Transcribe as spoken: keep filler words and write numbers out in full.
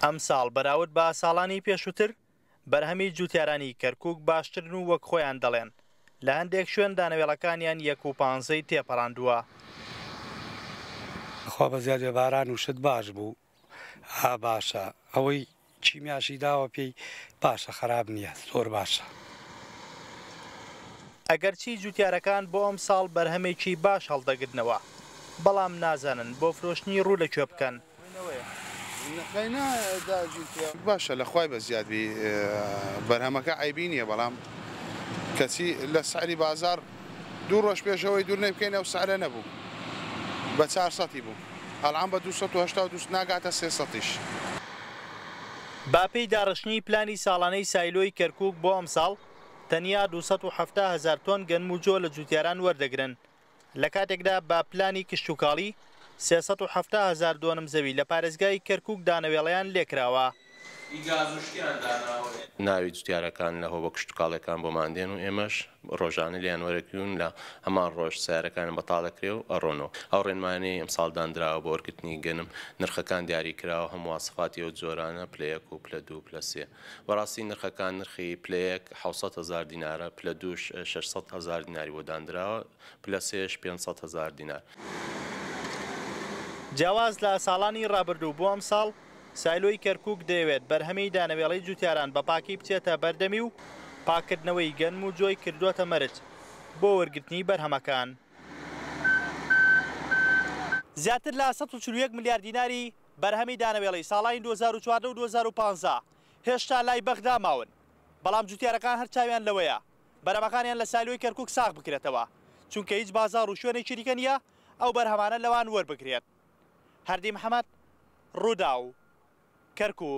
ئەمساڵ بەراورد بە ساڵانی پێشووتر بەرهەمی جوتیارانی کەرکوک باشترن و وەک خۆیان دەڵێن لە هەندێک شوێن دانەوێڵەکانیان یەک و پانزەی تێپەڕاندووە. خوا بە زیاد باران و شت باش بوو، ها باشە، ئەوەی کیمیاشی داوە پێی باشە، خراپ نییە، زۆر باشە. ئەگەرچی جوتیارەکان بۆ ئەم ساڵ بەرهەمێکی باش هەڵدەگرنەوە، بەڵام نازانن بۆ فرۆشتنی ڕوو لەکوێ بکەن. باشە لە خوای بە زیادبی بەرهەمەکە عیبی نییە، بەڵام کەچی لە سعری بازار دوو ڕۆژ پێشەوەی دوور نەبکەین ئەو سعرە نەبوو، بە چوار سەدی بوو، ئەلان بە دوو سەد و هەشتا و دوو ناگاتە سێ سەدیش. با پێی داڕشتنی پلانی ساڵانەی سایلۆی کەرکوک بۆ ئەمساڵ تەنیا دوو سەد و حەفتا هەزار تۆن گەنم و جۆ لە جوتیاران وەردەگرن، لە کاتێکدا با پلانی کشتوکاڵی سێ سەد و حەفتا هەزار دۆنم زەوی لە پارێزگای کەرکوک دانەوێڵەیان لێکراوە. ناوی جوتیارەکان لە هۆبە کشتوکاڵەکان بۆمان دێن و ئێمەش ڕۆژانە لیان وەرەگرن، لە هەمان ڕۆژ سیارەکان بەتاڵ دەکرێ و ئەڕۆنەوە. ئەو ڕێنمانەی ئەمساڵ دانراوە بۆ وەرگرتنی گەنم نرخەکان دیاری کراوە، هەموو واسفاتی ئەو جۆرانە پلە یەک و پلە دوو پلە سێ. بەڕاستی نرخەکان نرخی پلە یەک حەوت سەد هەزار دینارە، پلە دووش شەش سەد هەزار دیناری بۆ دانراوە، پلە سێش پێنج سەد هەزار دینار. جیاواز لە ساڵانی ڕابردوو بۆ ئەمساڵ سایلۆی کەرکوک دەیەوێت بەرهەمی دانەوێڵەی جوتیاران بە پاکی بچێتە بەردەمی و پاکردنەوەی گەنم و جۆی کردووەتە مەرج بۆ وەرگرتنی بەرهەمەکان. زیاتر لە سەد و چل و یەک ملیار دیناری بەرهەمی دانەوێڵەی ساڵانی دوو هەزار و چواردە و دوو هەزار و پانزە هێشتا لای بەغدا ماون، بەڵام جوتیارەکان هەر چاویان لەوەیە بەرهەمەکانیان لە سایلۆی کەرکوک ساغ بکرێتەوە، چونکە هیچ بازاڕ و شوێنێکی دیکە نییە ئەو بەرهەمانە لەوان وەربگرێت. هەردی محەممەد، ڕووداو، کەرکوک.